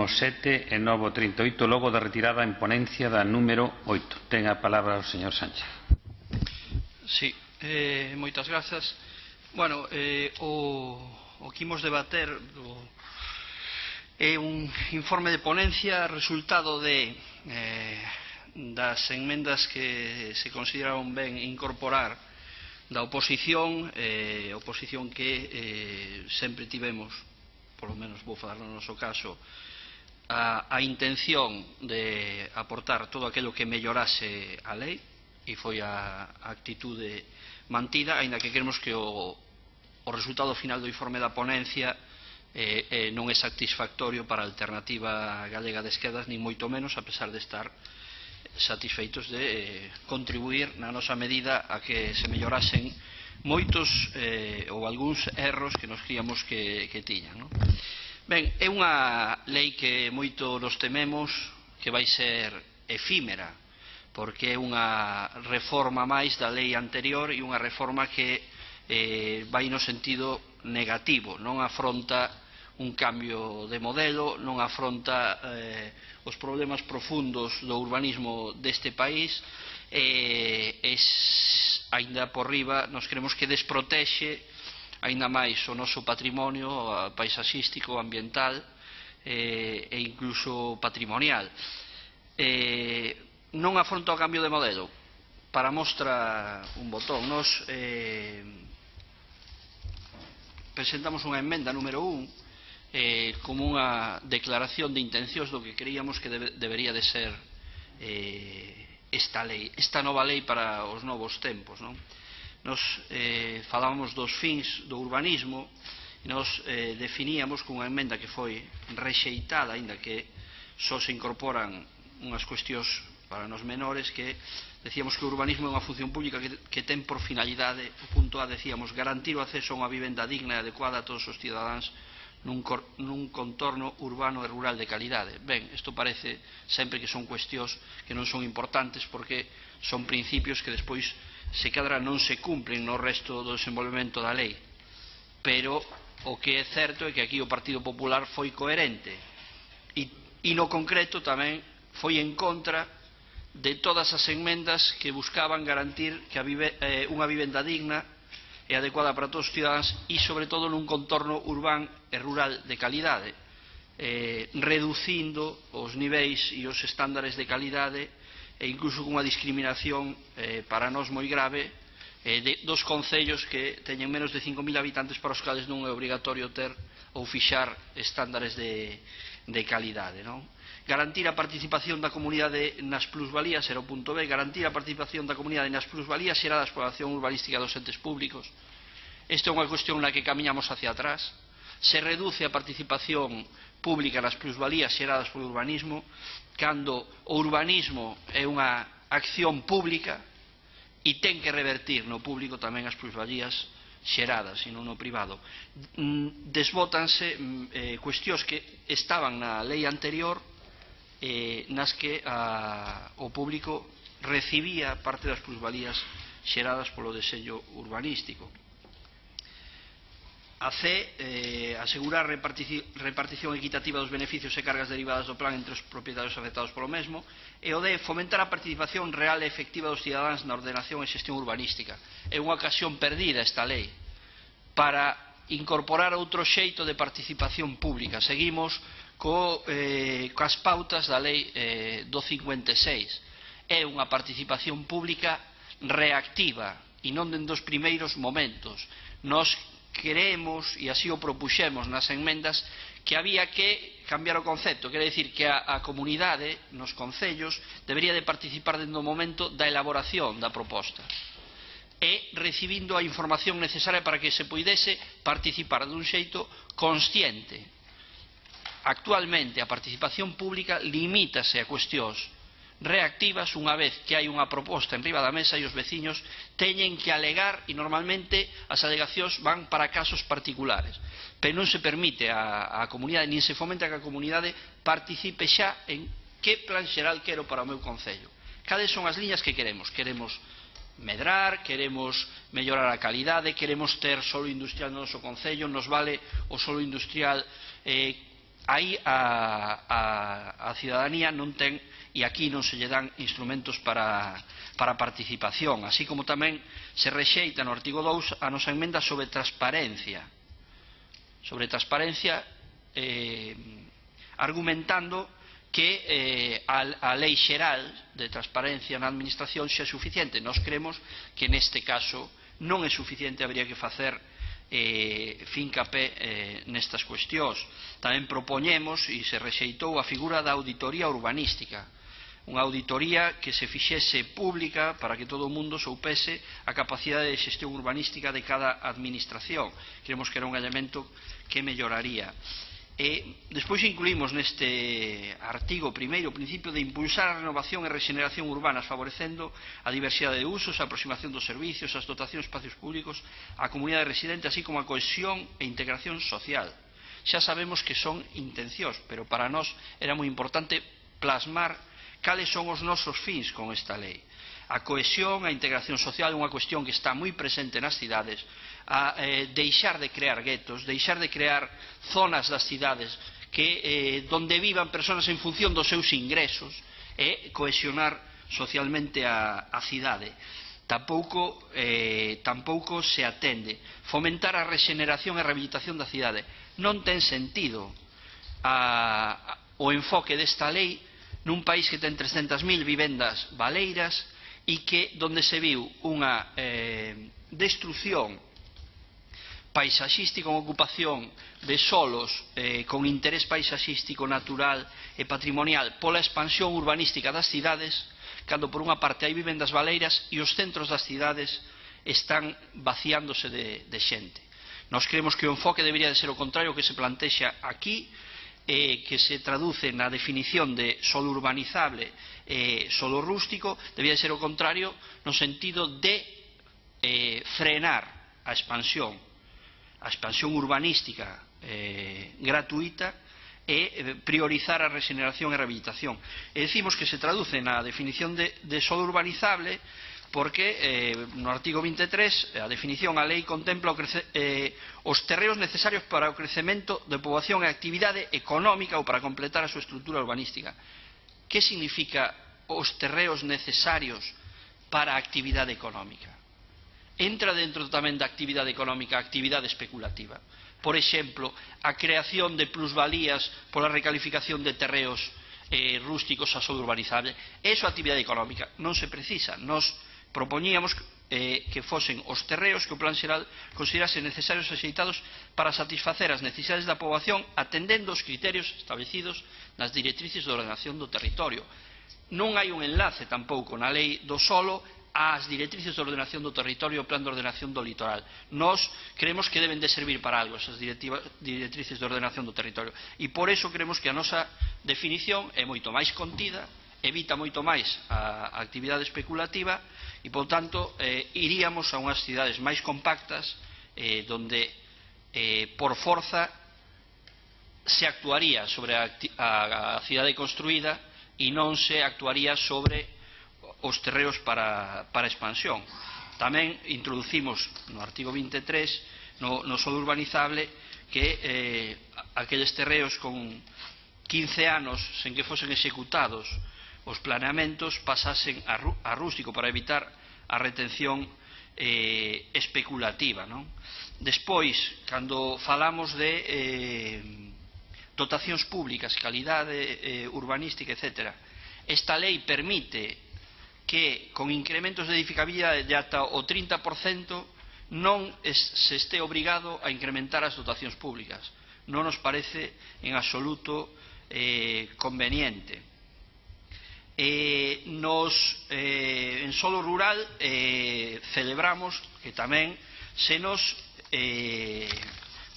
último 7 e novo 38, logo da retirada en ponencia da número 8. Ten a palabra o señor Sánchez. Sí, moitas grazas. Bueno, o que imos debater é un informe de ponencia resultado das enmendas que se consideraron ben incorporar da oposición, oposición que sempre tivemos, polo menos vou falar no noso caso, a intención de aportar todo aquilo que mellorase a lei, e foi a actitude mantida, aínda que queremos que o resultado final do informe da ponencia non é satisfactorio para a alternativa galega de esquerdas, nin moito menos, a pesar de estar satisfeitos de contribuir na nosa medida a que se mellorasen moitos ou algúns erros que nos críamos que tiñan. Ben, é unha lei que moito nos tememos que vai ser efímera, porque é unha reforma máis da lei anterior e unha reforma que vai no sentido negativo, non afronta un cambio de modelo, non afronta os problemas profundos do urbanismo deste país, aínda por riba nos creemos que desprotexe aínda máis o noso patrimonio paisaxístico, ambiental e incluso patrimonial. Non afronta o cambio de modelo. Para mostra un botón, nos presentamos unha emenda número 1 como unha declaración de intencións do que creíamos que debería de ser esta nova lei para os novos tempos. Nos falábamos dos fins do urbanismo e nos definíamos con unha emenda que foi rexeitada, aínda que só se incorporan unhas cuestións para nos menores, que decíamos que o urbanismo é unha función pública que ten por finalidade, o punto A decíamos, garantir o acceso a unha vivenda digna e adecuada a todos os cidadáns nun contorno urbano e rural de calidade. Ben, isto parece sempre que son cuestións que non son importantes, porque son principios que despois se cadra non se cumplen no resto do desenvolvemento da lei, pero o que é certo é que aquí o Partido Popular foi coherente e no concreto tamén foi en contra de todas as enmendas que buscaban garantir que unha vivenda digna e adecuada para todos os cidadáns e, sobre todo, nun contorno urbano e rural de calidade, reducindo os niveis e os estándares de calidade e incluso cunha discriminación para nós moi grave dos concellos que teñen menos de 5.000 habitantes, para os cales non é obrigatorio ter ou fixar estándares de calidade. Garantir a participación da comunidade nas plusvalías era o punto B. Garantir a participación da comunidade nas plusvalías xeradas pola acción urbanística dos entes públicos. Esta é unha cuestión na que camiñamos hacia atrás. Se reduce a participación pública nas plusvalías xeradas polo urbanismo, cando o urbanismo é unha acción pública e ten que revertir no público tamén as plusvalías xeradas e non no privado. Desbótanse cuestións que estaban na lei anterior, nas que o público recibía parte das plusvalías xeradas polo deseño urbanístico. A C, asegurar repartición equitativa dos beneficios e cargas derivadas do plan entre os propietarios afectados polo mesmo. E o D, fomentar a participación real e efectiva dos cidadáns na ordenación e xestión urbanística. É unha ocasión perdida esta lei para incorporar outro xeito de participación pública. Seguimos coas pautas da lei do 56. É unha participación pública reactiva e non dende os primeiros momentos. Nos creemos, e así o propuxemos nas enmendas, que había que cambiar o concepto, quere dicir que a comunidade nos concellos debería de participar dende o momento da elaboración da proposta e recibindo a información necesaria para que se puidese participar dun xeito consciente. Actualmente a participación pública limítase a cuestións reactivas unha vez que hai unha proposta en riba da mesa e os veciños teñen que alegar, e normalmente as alegacións van para casos particulares, pero non se permite a comunidade, nin se fomenta que a comunidade participe xa en que plan xeral quero para o meu concello. Cales son as liñas que queremos? Queremos medrar, queremos mellorar a calidade, queremos ter solo industrial no noso concello, nos vale o solo industrial aí a cidadanía non ten, e aquí non se lle dan instrumentos para a participación, así como tamén se rexeita no artigo 2 a nosa emenda sobre transparencia, argumentando que a lei xeral de transparencia na administración xa é suficiente. Nós cremos que neste caso non é suficiente, habría que facer fincapé nestas cuestións. Tamén propoñemos, e se rexeitou, a figura da auditoría urbanística, unha auditoría que se fixese pública para que todo o mundo soupese a capacidade de xestión urbanística de cada administración. Creemos que era un elemento que melloraría. Despois incluímos neste artigo primeiro o principio de impulsar a renovación e regeneración urbanas, favorecendo a diversidade de usos, a aproximación dos servicios, as dotacións de espacios públicos, a comunidade residente, así como a cohesión e integración social. Xa sabemos que son intencións, pero para nós era moi importante plasmar cales son os nosos fins con esta lei. A cohesión, a integración social é unha cuestión que está moi presente nas cidades, a deixar de crear guetos, deixar de crear zonas das cidades donde vivan persoas en función dos seus ingresos, e cohesionar socialmente a cidade. Tampouco se atende. Fomentar a rexeneración e rehabilitación da cidade. Non ten sentido o enfoque desta lei nun país que ten 300.000 vivendas baleiras e que donde se viu unha destrucción paisaxística, unha ocupación de solos con interés paisaxístico, natural e patrimonial pola expansión urbanística das cidades, cando por unha parte hai vivendas baleiras e os centros das cidades están vaciándose de xente. Nós creemos que o enfoque debería de ser o contrario que se plantexa aquí, que se traduce na definición de solo urbanizable e solo rústico, debía de ser o contrario no sentido de frenar a expansión urbanística gratuita e priorizar a regeneración e rehabilitación. E decimos que se traduce na definición de solo urbanizable porque no artigo 23 a definición, a lei contempla os terreos necesarios para o crecemento de poboación e actividade económica ou para completar a súa estrutura urbanística. Que significa os terreos necesarios para a actividade económica? Entra dentro tamén da actividade económica a actividade especulativa. Por exemplo, a creación de plusvalías pola recalificación de terreos rústicos a solo urbanizable. Eso é actividade económica. Non se precisa. Nos propoñíamos que fosen os terreos que o Plan Xeral considerase necesarios e axeitados para satisfacer as necesidades da poboación atendendo os criterios establecidos nas directrices de ordenación do territorio. Non hai un enlace tampouco na lei do solo ás directrices de ordenación do territorio e o plan de ordenación do litoral. Nós creemos que deben de servir para algo esas directrices de ordenación do territorio e por eso creemos que a nosa definición é moito máis contida, evita moito máis a actividade especulativa e, por tanto, iríamos a unhas cidades máis compactas donde, por forza, se actuaría sobre a cidade construída e non se actuaría sobre os terreos para expansión. Tamén introducimos no artigo 23 no solo urbanizable que aqueles terreos con 15 anos sen que fosen executados os planeamentos pasasen a rústico para evitar a retención especulativa. Despois, cando falamos de dotacións públicas, calidade urbanística, etc., esta lei permite que con incrementos de edificabilidade de ata o 30% non se este obrigado a incrementar as dotacións públicas. Non nos parece en absoluto conveniente. En solo rural celebramos que tamén se nos,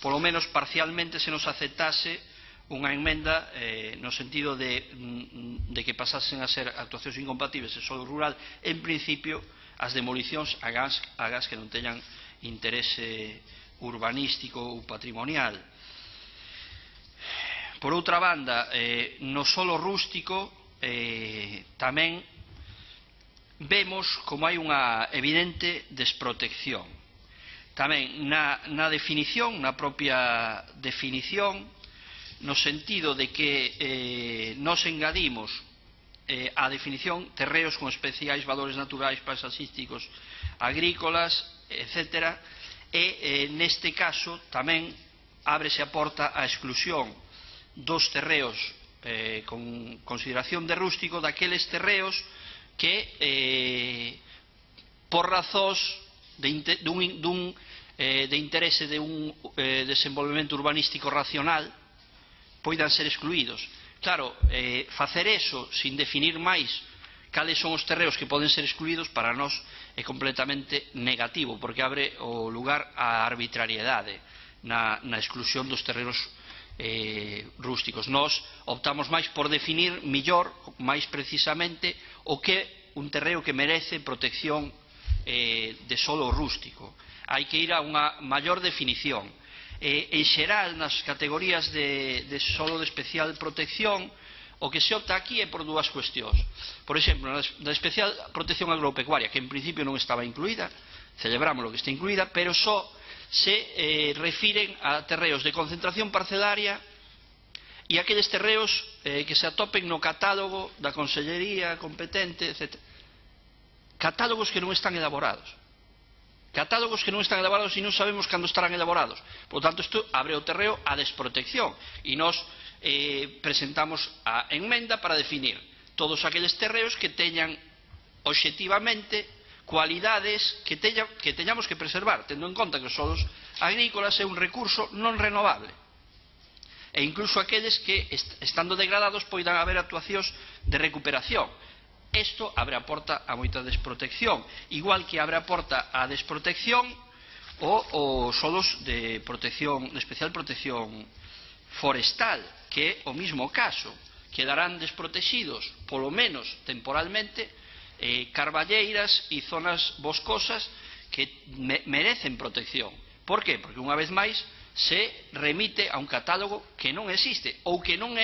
polo menos parcialmente, se nos aceptase unha enmenda no sentido de que pasasen a ser actuacións incompatibles en solo rural, en principio, as demolicións a gas que non teñan interese urbanístico ou patrimonial. Por outra banda, no solo rústico tamén vemos como hai unha evidente desprotección. Tamén na definición, na propia definición, no sentido de que nos engadimos a definición terreos con especiais valores naturais, paisaxísticos, agrícolas, etc. E neste caso tamén ábrese a porta á exclusión dos terreos con consideración de rústico, daqueles terreos que por razóns de interese de un desenvolvemento urbanístico racional poidan ser excluídos. Claro, facer eso sin definir máis cales son os terreos que poden ser excluídos para nós é completamente negativo, porque abre o lugar á arbitrariedade na exclusión dos terreos rústicos. Nós optamos máis por definir mellor, máis precisamente, o que un terreo que merece protección de solo rústico. Hai que ir a unha maior definición. En xeral, nas categorías de solo de especial protección, o que se opta aquí é por dúas cuestións. Por exemplo, na especial protección agropecuaria, que en principio non estaba incluída, celebramos lo que está incluída, pero só se refiren a terreos de concentración parcelaria e aqueles terreos que se atopen no catálogo da Consellería competente, etc. Catálogos que non están elaborados. Catálogos que non están elaborados e non sabemos cando estarán elaborados. Por tanto, isto abre o terreo á desprotección e nós presentamos a enmenda para definir todos aqueles terreos que teñan obxectivamente cualidades que teñamos que preservar, tendo en conta que os solos agrícolas é un recurso non renovable e incluso aqueles que, estando degradados, poidan haber actuacións de recuperación. Isto abre a porta a moita desprotección, igual que abre a porta a desprotección os solos de especial protección forestal, que é o mismo caso. Quedarán desprotegidos, polo menos temporalmente, carballeiras e zonas boscosas que merecen protección. Por qué? Porque unha vez máis se remite a un catálogo que non existe ou que non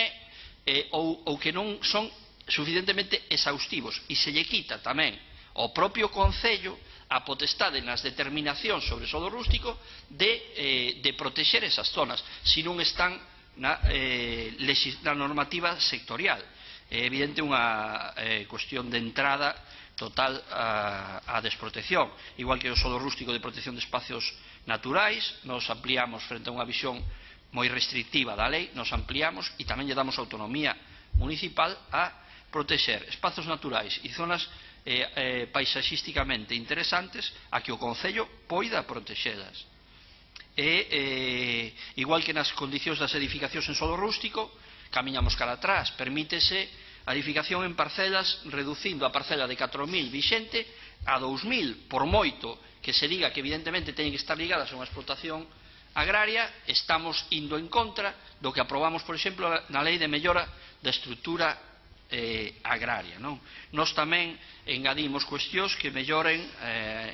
son suficientemente exhaustivos e se lle quita tamén ao propio Concello a potestade nas determinacións sobre solo rústico de protexer esas zonas se non están na normativa sectorial. É evidente unha cuestión de entrada total á desprotección, igual que o solo rústico de protección de espacios naturais. Nos ampliamos frente a unha visión moi restrictiva da lei, nos ampliamos e tamén lle damos autonomía municipal a protexer espazos naturais e zonas paisaxísticamente interesantes a que o Concello poida protexelas. Igual que nas condicións das edificacións en solo rústico, camiñamos cara atrás, permítese a edificación en parcelas reducindo a parcela de 4.000 vixente a 2.000, por moito que se diga que evidentemente teñen que estar ligadas a unha explotación agraria. Estamos indo en contra do que aprobamos, por exemplo, na Lei de Mellora da Estrutura agraria. Nós tamén engadimos cuestións que melloren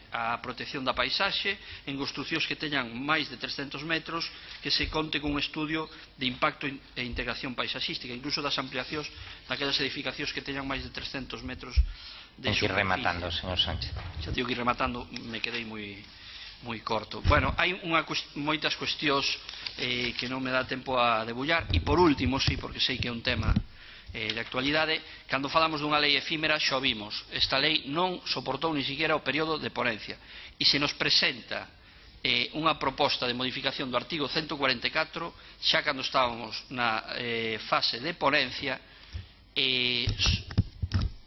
a protección da paisaxe en construcións que teñan máis de 300 metros, que se conte con un estudio de impacto e integración paisaxística, incluso das ampliacións daquelas edificacións que teñan máis de 300 metros de superficie. Ten que ir rematando, señor Sánchez. Xa digo que ir rematando, me quedei moi corto. Bueno, hai moitas cuestións que non me dá tempo a debullar e por último, sí, porque sei que é un tema de actualidade, cando falamos dunha lei efímera xa o vimos, esta lei non soportou ni siquiera o período de ponencia e se nos presenta unha proposta de modificación do artigo 144 xa cando estábamos na fase de ponencia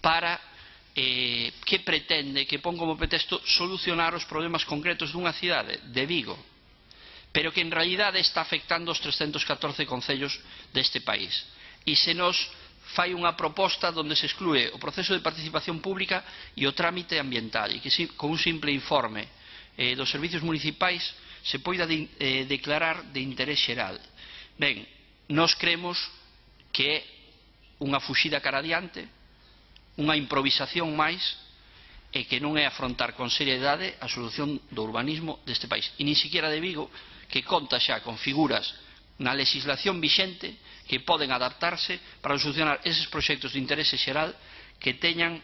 para que pretende, que pon como pretexto solucionar os problemas concretos dunha cidade, de Vigo, pero que en realidade está afectando os 314 concellos deste país e se nos fai unha proposta onde se exclúe o proceso de participación pública e o trámite ambiental e que con un simple informe dos servicios municipais se poida declarar de interés xeral. Ben, nós cremos que é unha fuxida cara adiante, unha improvisación máis e que non é afrontar con seriedade a solución do urbanismo deste país e nin siquiera de Vigo, que conta xa con figuras na legislación vixente que poden adaptarse para solucionar eses proxectos de interese xeral que teñan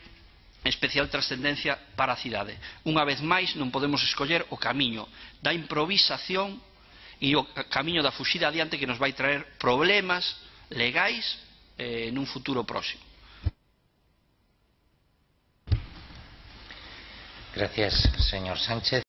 especial trascendencia para a cidade. Unha vez máis non podemos escoller o camiño da improvisación e o camiño da fuxida adiante que nos vai traer problemas legais nun futuro próximo. Gracias, señor Sánchez.